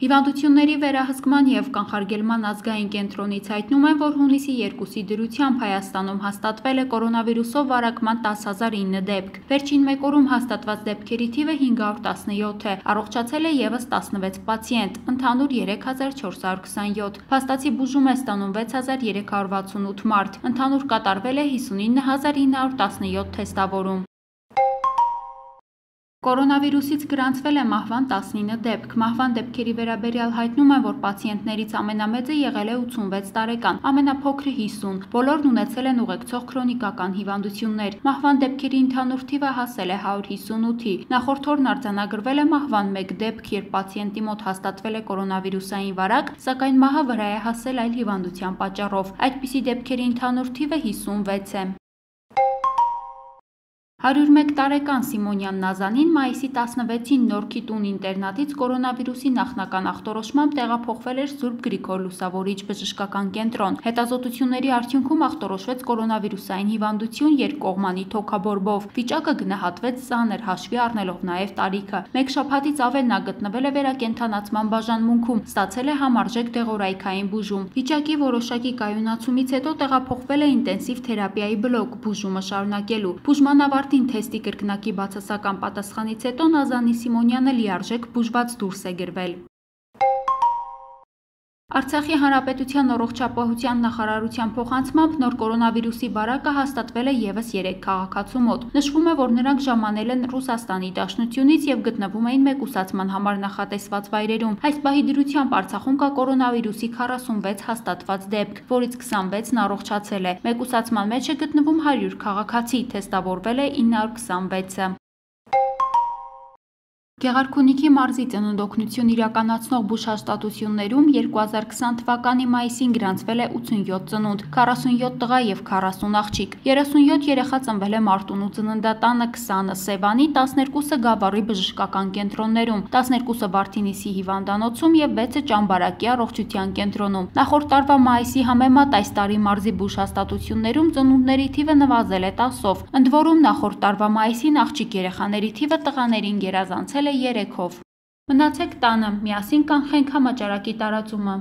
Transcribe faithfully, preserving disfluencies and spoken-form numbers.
Հիվանդությունների վերահսկման և կանխարգելման ազգային կենտրոնից հայտնում են, որ հունիսի երկուսի դրությամբ Հայաստանում հաստատվել է կորոնավիրուսով վարակման տասը հազար ինը դեպք։ Վերջին մեկ օրում հաստատված դեպքերի թիվը հինգ հարյուր տասնյոթ է, առողջացել է ևս տասնվեց պացիենտ, ընդհանուր երեք հազար չորս հարյուր քսանյոթ։ Փաստացի բուժում է ստանում վեց հազար երեք հարյուր վաթսունութ մարդ, ընդհանուր կատարվել է հիսունինը հազար ինը հարյուր տասնյոթ թեստավորում։ Կորոնավիրուսից գրանցվել է մահվան տասնինը դեպք։ Մահվան դեպքերի վերաբերյալ հայտնում են, որ պացիենտներից ամենամեծը եղել է ութսունվեց տարեկան, ամենափոքրը հիսուն։ Բոլորն ունեցել են ուղեկցող քրոնիկական հիվանդություններ։ Մահվան դեպքերի ընդհանուր թիվը հասել է հարյուր հիսունութի։ Նախորդ օրն արձանագրվել է մահվան մեկ դեպք, երբ պացիենտի մոտ հաստատվել է կորոնավիրուսային վարակ, սակայն մահը վրա է հասել այլ հիվանդության պատճառով։ Այդպիսի դեպքերի ընդհանուր թիվը հիսունվեց է։ հարյուր մեկ տարեկան Սիմոնյան Նազանին մայիսի տասնվեցին Նորքի տուն ինտերնատից կորոնավիրուսի նախնական ախտորոշմամբ տեղափոխվել էր Սուրբ Գրիգոր Լուսավորիչ բժշկական կենտրոն։ Հետազոտությունների արդյունքում ախտորոշվեց կորոնավիրուսային հիվանդություն երկկողմանի թոքաբորբով։ Վիճակը գնահատվեց ծանր, հաշվի առնելով նաև տարիքը։ Մեկ շաբաթից ավել նա գտնվել է վերակենդանացման բաժանմունքում, ստացել է համարժեք դեղորայքային բուժում։ Վիճակի որոշակի կայունացումից հետո տեղափոխվել է ինտենսիվ թերապիայի բլոկ բուժումը շարունակելու։ Բուժման ավարտին թեստի կրկնակի բացասական պատասխանից հետո Նազանի Սիմոնյանը լիարժեք բուժված դուրս է գրվել։ Արցախի հանրապետության առողջապահության նախարարության փոխանցմամբ նոր կորոնավիրուսի վարակը հաստատվել է ևս երեք քաղաքացու մոտ։ Նշվում է, որ նրանք ժամանել են Ռուսաստանի Դաշնությունից եւ գտնվում էին մեկուսացման համար նախատեսված վայրերում։ Այս պահի դրությամբ Արցախում կա կորոնավիրուսի քառասունվեց հաստատված դեպք, որից քսանվեցն առողջացել է։ Մեկուսացման մեջ է գտնվում հարյուր քաղաքացի, թեստավորվել է ինը հարյուր քսանվեցը։ Գեղարքունիքի մարզի ծննդօգնություն իրականացնող բուժհաստատություններում երկու հազար քսան թվականի մայիսին գրանցվել է ութսունյոթ ծնունդ, քառասունյոթ տղա եւ քառասուն աղջիկ։ երեսունյոթ երեխա ծնվել է Մարտունու ծննդատանը, քսանը Սևանի, տասներկուսը Գավառի բժշկական կենտրոններում, տասներկուսը Վարդինիսի հիվանդանոցում եւ վեցը Ճամբարակի առողջության կենտրոնում։ Նախորդ տարվա մայիսի համեմատ այս տարի մարզի բուժհաստատություններում ծնունդների թիվը նվազել է տասով։ Ընդ որում նախորդ տարվա մայիսին աղջիկ երեխաների թիվը տղաներին գերազանցել է երեքով։ Մնացեք տանը, միասին կանխենք համաճարակի տարածումը։